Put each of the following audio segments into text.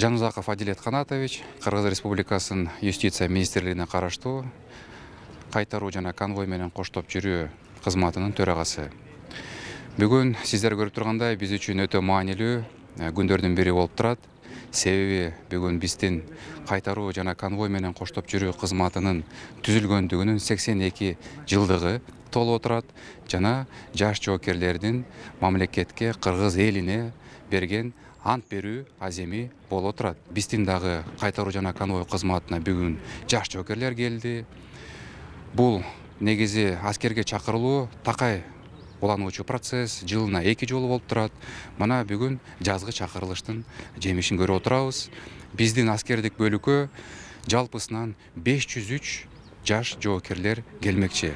Жанузаков Адилет Канатович, Кыргыз Республикасынын Юстиция министрлигине караштуу кайтаруу жана конвой менен коштоп жүрүү кызматынын төрагасы. Бүгүн сиздер көрүп тургандай биз үчүн өтө маанилүү күндөрдүн бири болуп турат. Себеби бүгүн биздин кайтаруу жана конвой менен коштоп жүрүү кызматынын түзүлгөндүгүнүн 82 жылдыгы толуп отурат жана жаш жоокерлердин мамлекетке, кыргыз элине берген ант берүү аземи болуп отурат. Биздин дагы кайтаруу жана конвой кызматына бүгүн жаш жоокерлер келди. Бул негизи аскерге чакырылуу такай улануучу процесс, жылына 2 жолу болуп турат. Мына бүгүн жазгы чакырылыштын жемишин көрүп отурабыз. Биздин аскердик бөлүккө жалпысынан 503 жаш жоокерлер келмекчи.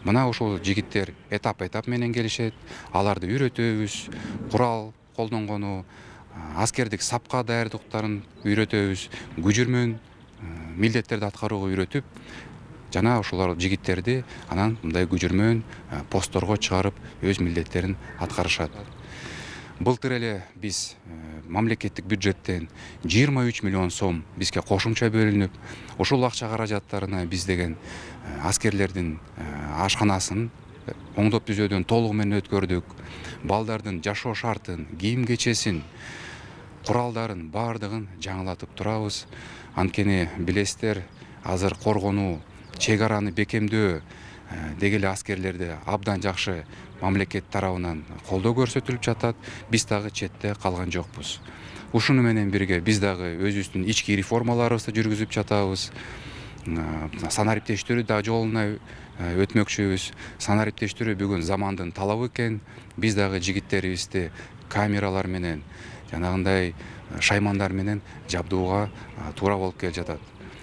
Мына ушул жигиттер этап менен келишет. Аларды үйрөтөбүз, курал колдонгону, аскердик сапка даярдыктарын үйрөтөбүз, күжүрмөн милдеттерди аткарууга үйрөтүп, жана ошолор жигиттерди анан мындай күжүрмөн постторго чыгарып өз милдеттерин аткарышат. Былтыр эле биз мамлекеттик бюджеттен 23 миллион сом бизге кошумча бөлүнүп, ушул акча каражаттарына биз деген аскерлердин ашканасын оңдоп түзөөдөн толугу менен өткөрдүк. Балдардын жашоо шартын, кийим кечесин, куралдарын баардыгын жаңылатып турабыз. Анткени билесиздер, азыр коргонуу, чек араны бекемдөө деги эле аскерлерде абдан жакшы мамлекет тарабынан колдоо көрсөтүлүп жатат. Биз дагы четте калган жокпуз. Ушуну менен бирге биз дагы өзүбүздүн ички реформаларыбызды жүргүзүп жатабыз. Санариптештирүү да жолуна өтмөкчүбүз. Санариптештирүү бүгүн замандын талабы экен. Биз дагы жигиттерибизди камералар менен, жанагындай шаймандар менен жабдууга туура болуп келе жатат.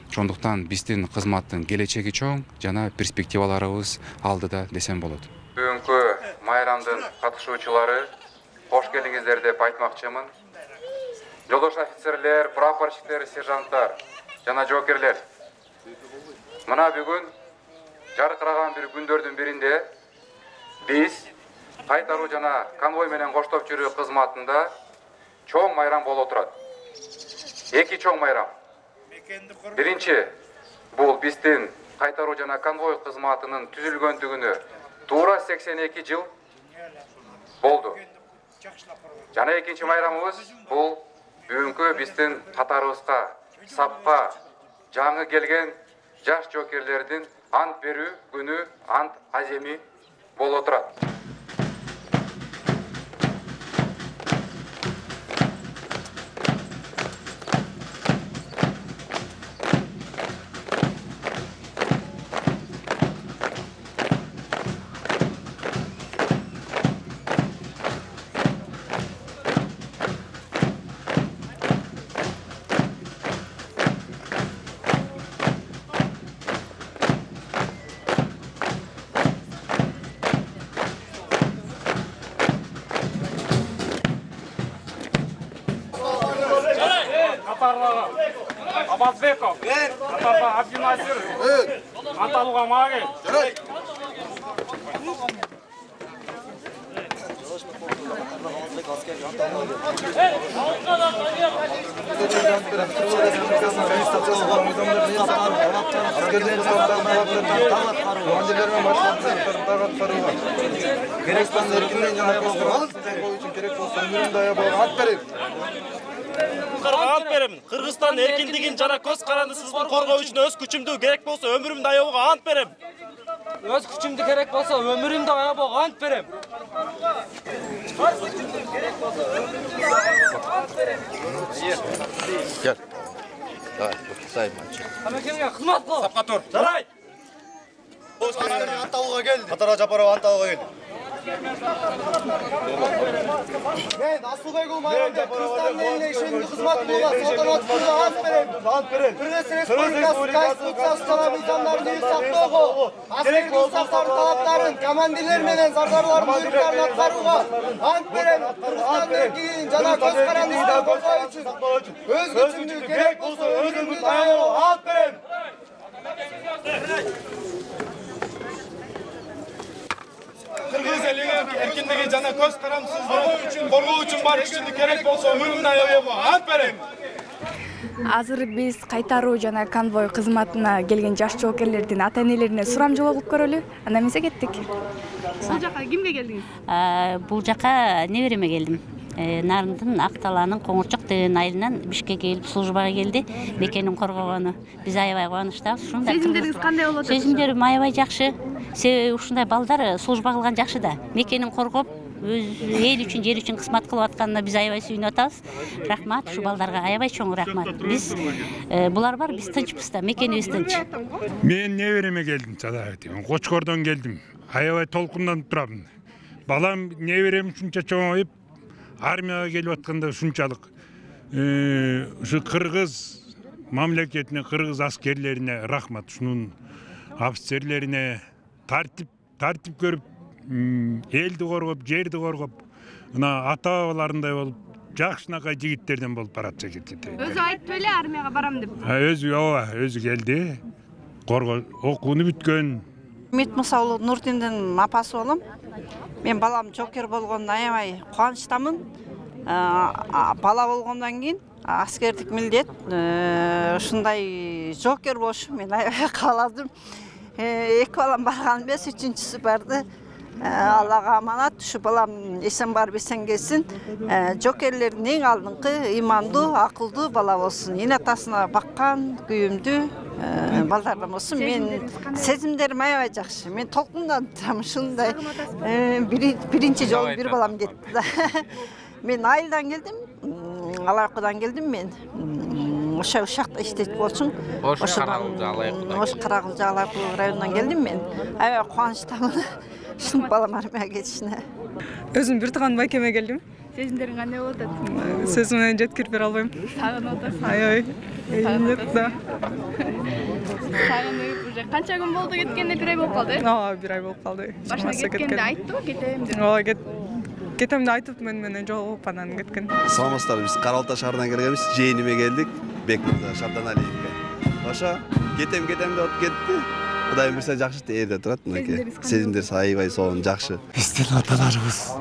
Ошондуктан биздин кызматтын келечеги чоң жана перспективаларыбыз алдыда десем болот. Бүгүнкү майрамдын катышуучулары, кош келиңиздер деп айтмакчымын. Жолдош офицерлер, прапорщиктер, сержанттар жана жоокерлер. Мына бүгүн жаркыраган бир күндөрдүн биринде биз кайтаруу жана конвой менен коштоп жүрүү кызматында чоң майрам болуп турат. 2 чоң майрам. Биринчи, бул биздин кайтаруу жана конвой кызматынын түзүлгөндүгүнө туура 82 жыл болду. Жана экинчи майрамыбыз бул бүгүнкү биздин катарыбызга сапка жаңы келген жаш жоокерлердин ант берүү күнү, ант аземи болуп турат. Абазбеков, Атарба Абдинасир, Анталуга Маген. Ант берем. Кыргызстан эркиндигин жана көз карандысыздыгын коргоо үчүн өз күчүмдү керек болсо өмүрүмдү аябууга ант берем. Өз күчүмдү керек болсо өмүрүмдү аябууга ант берем. Gel. Давай, sayın maçı. Камекемге кызмат кыл. Сапка тур. Жарайт. Анталуга келди. Катара Жапарова Анталуга келди. Мен Асылбек Уулмайрамбек Кыргызстандын элине ишендүү кызмат кылууга салтанаттуу түрдө ант берем. Кыргыз Республикасы Конституциясы жана мыйзамдарын сактоого, аскердик устактардын талаптарын, командирлер менен зардарлардын буйруктарын аткарууга ант берем. Кыргызстандын эркиндигин жана көз карандысыздыгын коргоо үчүн өз күчүмдү керек болсо өмүрүмдү аябууга ант берем. Кыргыз элинин эркиндиги жана көз карандысыздыгын коргоо үчүн бар күчүмдү керек болсо өмүрүмдү аябууга ант берем. Азыр биз кайтаруу жана конвой кызматына келген жаш жоокерлердин ата-энелерине сурамжылоо кылып көрөлү. Андан эмесе кеттик. Бул жака кимге келдиңиз? Бул жака небереме келдим. Нарындын Акталаанын Коңурчок деген айылынан Бишкекке келип службага келди. Мекенин коргогону. Биз аябай кубанычтабыз. Ушундай Сезимдериңиз кандай болот? Сезимдерим аябай жакшы. Себеби ушундай балдар служба кылган жакшы да. Мекенин коргоп, өз эл үчүн, жер үчүн кызмат кылып атканына биз аябай сүйүнүп атабыз. Рахмат, ушу балдарга аябай чоң рахмат. Биз булар бар, биз тынчпыз да, мекенибиз тынч. Мен небереме келдим, Кочкордон келдим. Аябай толкунданып турам. Балам неберем ушунча чоңоюп, армияга келип атканда ушунчалык ушу кыргыз мамлекетине, кыргыз аскерлерине рахмат. Ушунун офицерлерине тартип көрүп, элди коргоп, жерди коргоп, мына ата-бабаларындай болуп, жакшынакай жигиттерден болуп баратса кетет. Өзү айтты эле армияга барам деп. Өзү келди. Окууну бүткөн. Үмүт Мусаулу Нурдиндин апасы болом. Мен балам жокер болгонуна аябай кубанычтамын. Бала болгондон кийин аскердик милдет, ушундай жокер болушу мен аябай кааладым. Эки балам барган эмес, үчүнчүсү барды. Аллага аманат, ушу балам эсен барып эсен келсин. Жокерлердин эң алдыңкы имандуу, акылдуу бала болсун. Эне атасына баккан, күйүмдүү балдардан болсун. Мен сезимдерим аябай жакшы. Мен толкунданып турам, ушундай биринчи жолу бир балам кетти да. Мен айылдан келдим, Алайкудан келдим мен. Ошо ушакта иштейт болчумун. Ош Карагылжа Алайку районунан келдим мен. Аябай кубанычтамын. Ушун балам армияга кетишине. Өзүм бир тууган байкеме келдим. Сезимдериң кандай болуп атат? Сөз менен жеткирип бере албайм. Сагынып атасың? Аябай. Да. Сагынып уже канча күн болду кеткенине? Бир ай болуп калды? Бир ай болуп калды. Башында кеткенде айттыбы, кетем деп. Кетем деп айтып менен жолугуп анан кеткен. Саламатсыздар, биз Каралта шаарынан келгенбиз. Жээниме келдик. Бекмырза Шабданалиевге. Ошо кетем деп кетти. Кудайым берсе жакшы ээрде турат мынакей. Сезимдер аябай сонун жакшы. Биздин аталарыбыз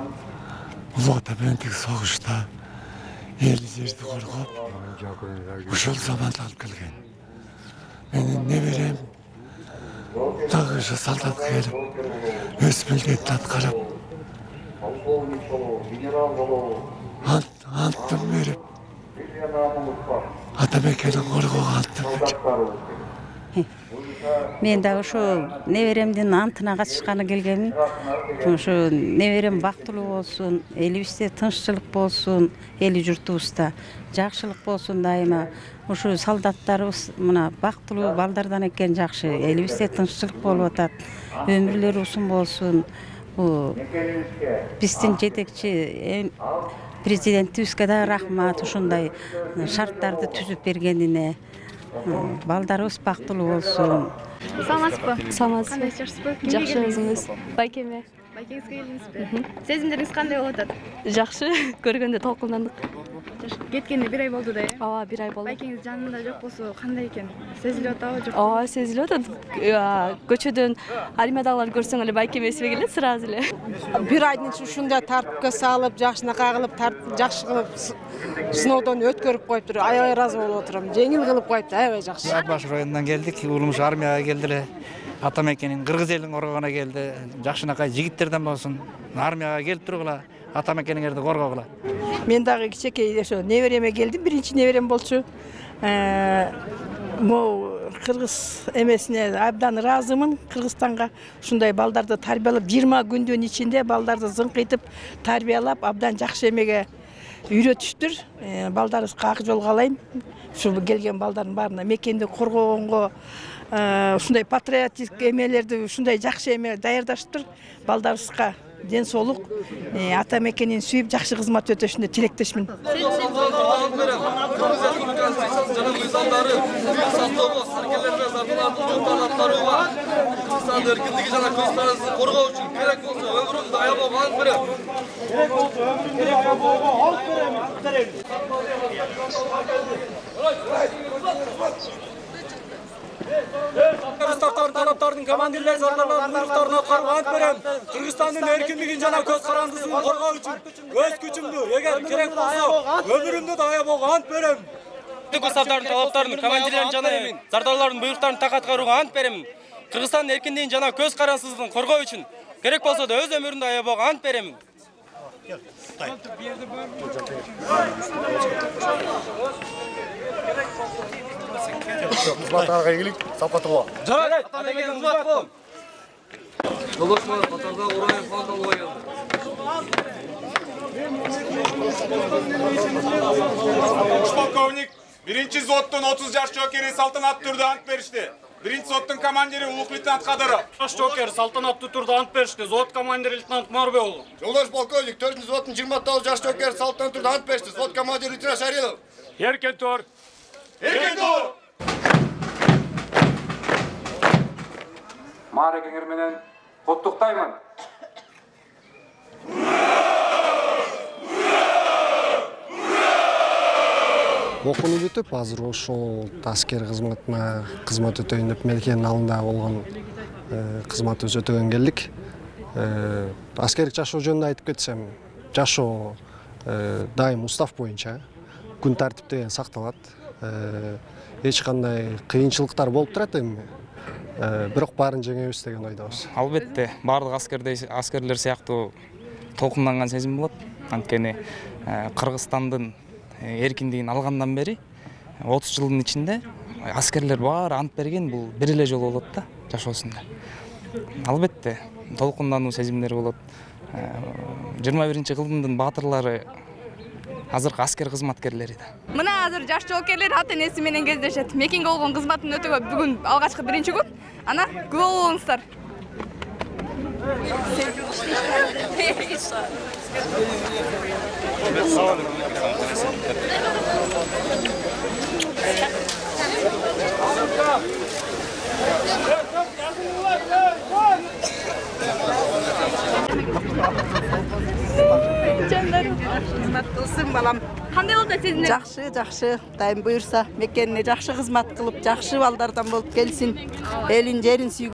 Улуу Ата менен согушта эл жерди коргоп, ушул заманда алып келген. Менин неберем дагы ошо солдатка келип, өз милдетин аткарып, антын берип, ата мекенин коргоого антын. Мен да ошо неберемдин антына катышканы келгенмин. Ошо неберем бактылуу болсун, элибизде тынччылык болсун, эли журтубузда жакшылык болсун дайыма. Ошо солдаттарыбыз мына бактылуу балдардан экен жакшы. Элибизде тынччылык болуп атат. Өмүрлөрү узун болсун. Бул биздин жетекчи президентибизге да рахмат, ушундай шарттарды түзүп бергенине. Балдарыбыз бактылуу болсун. Саламатсызбы? Саламатсызбы? Кандай жакшысызбы? Жакшы, өзүңүз? Байкеме. Байкеңизге келдиңизби? Сезимдериңиз кандай болуп атат? Жакшы, көргөндө толкундандык. Кеткенине бир ай болду да, э? Ооба, бир ай болду. Байкеңиз жанында жок болсо кандай экен? Сезилип атабы, жокпу? Ооба, сезилип атат. Көчөдөн армиядагыларды көрсөң эле байкеме эсиме келет сразу эле. Бир айдын ушундай тартипке салып, жакшынакай кылып, жакшы кылып, сыноодон өткөрүп коюптур. Аябай ыраазы болуп отурам. Жеңил кылып коюпту, аябай жакшы. Баш районунан келдик, уулумуз армияга келди эле. Ата мекенин, кыргыз элин коргогуна келди. Жакшынакай жигиттерден болсун. Армияга келип тургула, ата мекениңерди коргогула. Мен дагы кичинекей ошо небереме келдим, биринчи неберем болчу. Могу кыргыз эмесине абдан ыраазымын. Кыргызстанга ушундай балдарды тарбиялап 20 күндүн ичинде балдарды зыңкыйтып тарбиялап абдан жакшы эмеге үйрөтүштүр. Балдарыбызга ак жол каалайм. Ушу келген балдардын баарына мекенди коргогонго ушундай патриотик эмелерди ушундай жакшы эме даярдаштыр. Балдарыбызга ден соолук, ата мекенин сүйүп жакшы кызмат өтөшүнө тилектешмин. Тараптардын командирлер зарларларын буйруктарына карманып берем. Кыргызстандын эркиндигин жана көз карандысын коргоо үчүн өз күчүмдү, эгер керек болсо, өмүрүмдү да аябууга ант берем. Түк уставдардын талаптарын, командирлердин жана зардарлардын буйруктарын так аткарууга ант беремин. Кыргызстандын эркиндигин жана көз карансыздыгын коргоо үчүн керек болсо да өз өмүрүмдү аябоого ант беремин. Кызматтарга ийгилик, сапатыла. Жарайт, атамекенин кызматы болом. Жолдошмо катарда Ураев Фанталова келди. Полковник, 1-взводдун 30 жаш жокери салтанаттуу түрдө ант беришти. 1-взводдун командири улук лейтенант Кадыров. Жаш жокер салтанаттуу түрдө ант беришти. Взвод командири лейтенант Марбеков. Жолдош полковник, 4-взводдун 29 жаш жокери салтанаттуу түрдө ант беришти. Взвод командири лейтенант Шарилов. Эркен тор. Эркен тор. Маарекеңер менен куттуктаймын. Окууну бүтүп, азыр ошол аскер кызматына кызмат өтөйүн деп мелкенин алдында болгон кызматыбыз өтөгөн келдик. Аскерлик жашоо жөнүндө айтып кетсем, жашоо дайым устав боюнча күн тартип деген сакталат. Эч кандай кыйынчылыктар болуп турат эми. Бирок баарын жеңебиз деген ойдобуз. Албетте, баардык аскерлер сыяктуу толкунданган сезим болот. Анткени Кыргызстандын эркиндигин алгандан бери 30 жылдын ичинде аскерлер баары ант берген, бул бир эле жолу болот да жашоосунда. Албетте, толкундануу сезимдери болот. 21-кылымдын баатырлары азыркы аскер кызматкерлери да. Мына азыр жаш жоокерлер ата-энеси менен кездешет. Мекенге болгон кызматын өтөгө бүгүн алгачкы 1-күн. Ана күбө болуңуздар. Кызмат кылсын балам. Кандай болду сезиңер? Жакшы, жакшы. Дайым буйрса, мекенине жакшы кызмат кылып, жакшы балдардан болуп келсин. Элин, жерин